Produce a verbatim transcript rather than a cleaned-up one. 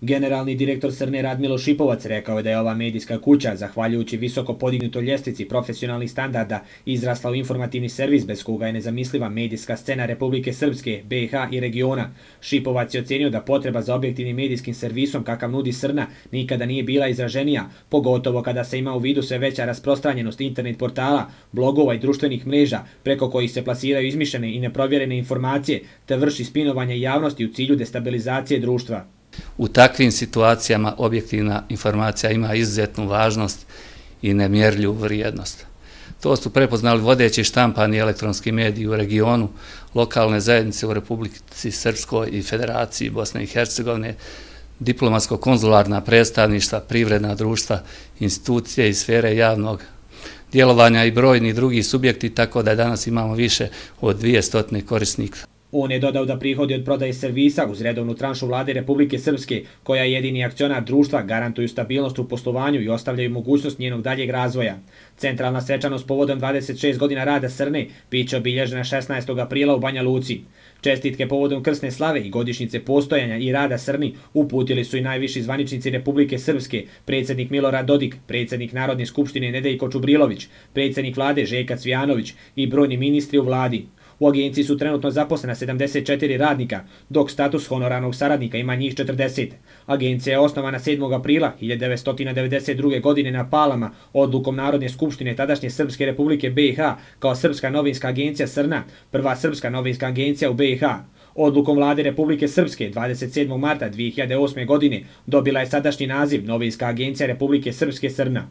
Generalni direktor Srne Radmilo Šipovac rekao je da je ova medijska kuća, zahvaljujući visoko podignutoj ljestvici profesionalnih standarda, izrasla u informativni servis bez koga je nezamisliva medijska scena Republike Srpske, be i ha i regiona. Šipovac je ocenio da potreba za objektivnim medijskim servisom kakav nudi Srna nikada nije bila izraženija, pogotovo kada se ima u vidu sve veća rasprostranjenost internet portala, blogova i društvenih mreža, preko kojih se plasiraju izmišljene i neprovjerene informacije, te vrši spinovanje javnosti u cilju destabilizacije društva. U takvim situacijama objektivna informacija ima izuzetnu važnost i nemjerljivu vrijednost. To su prepoznali vodeći štampani elektronski mediji u regionu, lokalne zajednice u Republici Srpskoj i Federaciji Bosne i Hercegovine, diplomatsko-konzularna predstavništva, privredna društva, institucije i sfere javnog djelovanja i brojni drugi subjekti, tako da danas imamo više od dvjesto korisnika. On je dodao da prihodi od prodaje servisa uz redovnu tranšu vlade Republike Srpske, koja je jedini akcionar društva, garantuju stabilnost u poslovanju i ostavljaju mogućnost njenog daljeg razvoja. Centralna svečanost povodom dvadeset šest godina rada Srne biće obilježena šesnaestog aprila u Banja Luci. Čestitke povodom krsne slave i godišnjice postojanja i rada Srni uputili su i najviši zvaničnici Republike Srpske, predsjednik Milorad Dodik, predsjednik Narodne skupštine Nedeljko Čubrilović, predsjednik vlade Željko Cvijanović i brojni ministri u vladi. U agenciji su trenutno zaposlena sedamdeset četiri radnika, dok status honorarnog saradnika ima njih četrdeset. Agencija je osnovana sedmog aprila hiljadu devetsto devedeset druge. godine na Palama odlukom Narodne skupštine tadašnje Srpske Republike be i ha kao Srpska novinska agencija Srna, prva srpska novinska agencija u be i ha. Odlukom vlade Republike Srpske dvadeset sedmog marta dvije hiljade osme. godine dobila je sadašnji naziv Novinska agencija Republike Srpske Srna.